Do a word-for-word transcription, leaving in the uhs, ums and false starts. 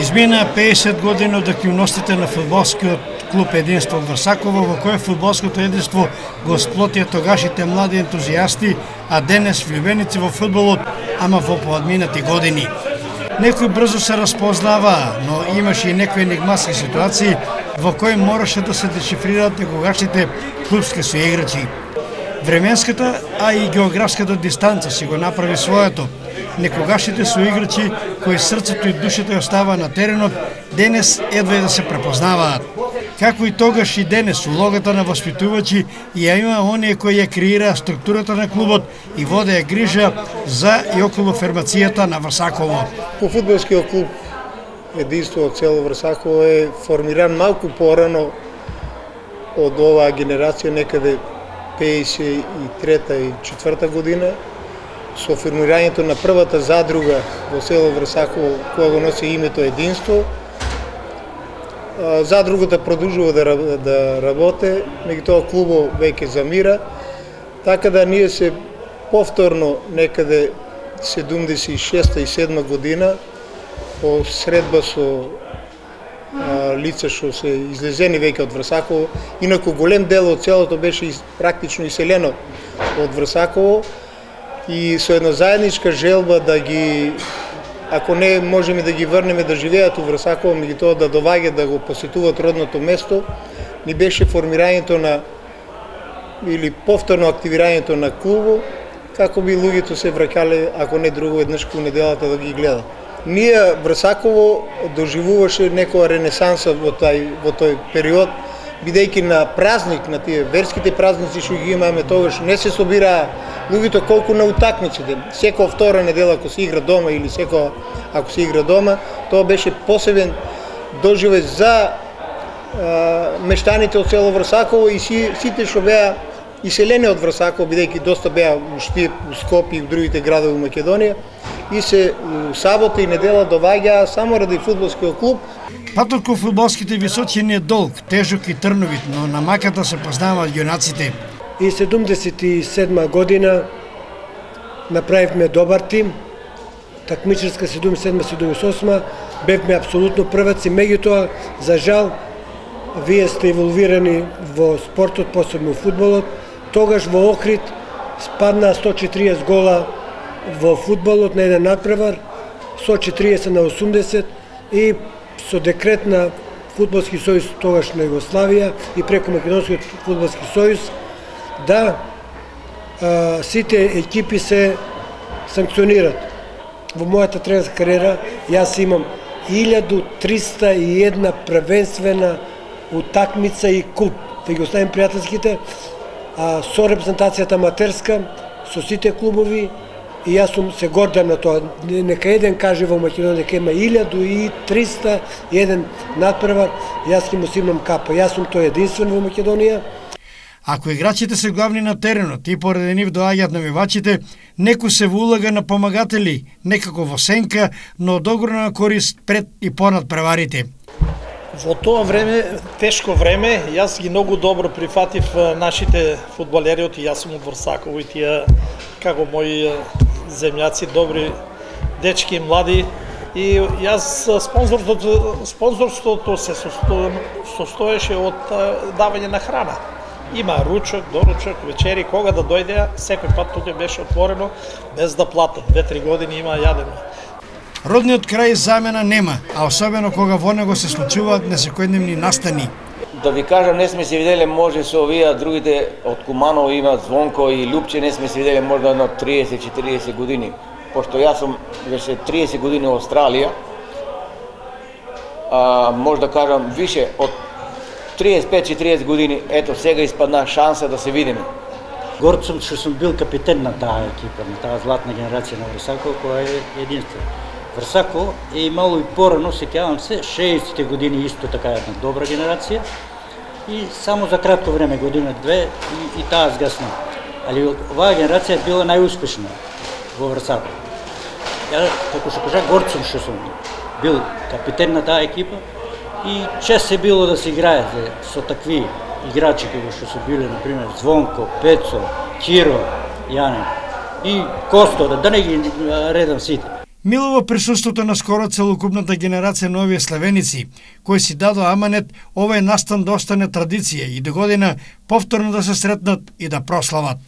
Измина педесет години од активностите на фудбалскиот клуб Единство од Врсаково, во кој фудбалското единство го сплотија тогашите млади ентузијасти, а денес влюбеници во фудбалот, ама во поадминати години. Некои брзо се разпознаваа, но имаше и некои енигматски ситуации во кои мораше да се дешифрираат некогашните клубски соиграчи. Временската, а и географската дистанца си го направи своето. Некогашните соиграчи кои срцето и душата ја остава на теренот, денес едва да се препознаваат. Како и тогаш и денес улогата на воспитувачи ја има оние кои ја креираа структурата на клубот и водеа грижа за и околу формацијата на Врсаково. По фудбалскиот клуб Единство од село Врсаково е формиран малку порано од оваа генерација, некаде педесет и трета и четврта година, со формирањето на првата задруга во село Врсаково, која го носи името Единство. Задругата продолжува да, да работи, меѓутоа клубот веќе замира, така да ние се повторно некаде седумдесет и шеста и седма година по средба со а, лица што се излезени веќе од Врсаково, инаку голем дел од селото беше практично иселено од Врсаково и со една заедничка желба да ги, ако не можеме да ги врнеме да живеат во Врсаково, меѓутоа да доваѓаат да го посетуваат родното место, ни беше формирањето на или повторно активирањето на клубот, како би луѓето се враќале, ако не друго еднаш кон неделата да ги гледат. Ние Врсаково доживуваше некоја ренесанса во тај во тој период, бидејќи на празник, на тие верските празници што ги имаме тогаш, не се собираа луѓето колку на утакмиците. Секоја втора недела ако се игра дома или секоја ако се игра дома, тоа беше посебен доживеј за а, мештаните од село Врсаково и си, сите што беа иселени од Врсаково, бидејќи доста беа у Штип, у Скопје и у другите градови во Македонија, и се у сабота и недела доваѓаа само ради фудбалскиот клуб. Патот кон фудбалските височини е долг, тежок и трновит, но на маката се познаваат јунаците. И седумдесет и седма година направивме добар тим, такмичарска седумдесет и седма седумдесет и осма, бевме апсолутно прваци, меѓутоа, за жал, вие сте еволвирани во спортот, посебно во фудбалот. Тогаш во Охрид спадна сто четириесет гола во фудбалот на еден надпревар, сто четириесет на осумдесет, и со декрет на Фудбалски сојуз тогаш на Југославија и преку Македонскиот фудбалски сојуз да а, сите екипи се санкционират. Во мојата тренерска кариера јас имам илјаду триста и една првенствена утакмица и куп, да ги оставим пријателските, а, со репрезентацијата аматерска, со сите клубови, и јас сум се гордам на тоа. Нека еден каже во Македонија дека има илјаду и триста и еден надпревар, јас ќе му симам капа. Јас сум тој единствен во Македонија. Ако играчите се главни на теренот и поради нив доаѓаат навивачите, некој се улага на помагатели, некако во сенка, но од огромна корист пред и понад преварите. Во тоа време, тешко време, јас ги многу добро прифатив нашите фудбалери, и јас сум од Врсаково и тие како мои земјаци, добри дечки, млади, и јас спонзорството, спонзорството се состоеше од давање на храна. Има ручок, доручок, вечери, кога да дојдеа, секој пат тука беше отворено, без да платат. Две-три години има јадено. Родниот крај замена нема, а особено кога во него се случуваат несекојдневни настани. Да ви кажам, не сме се виделе може со овие другите од Куманово имаат Звонко и Лупче, не сме се виделе можда едно триесет-четириесет години. Пошто јас сум веќе триесет години во Австралија, а, може да кажам више од триесет и пет-четириесет години, ето сега испадна шанса да се видиме. Горд сум што сум бил капитен на таа екипа, на таа златна генерација на Врсаково, која е единствена. Врсаково е имало и порано, сеќавам се, шеесетте години исто така една добра генерација и само за кратко време, година-две, и, и таа згасна. Али оваа генерација е била најуспешна во Врсаково. Ја, како што кажа, горд сум што сум бил капитен на таа екипа и чест е било да се играе со такви играчи како што се биле, например, Звонко, Пецо, Киро, Јане и Косто, да не ги редам сите. Милува присуството на скоро целокупната генерација на овие славеници, кои си дадо аманет овој настан да остане традиција и до година повторно да се сретнат и да прослават.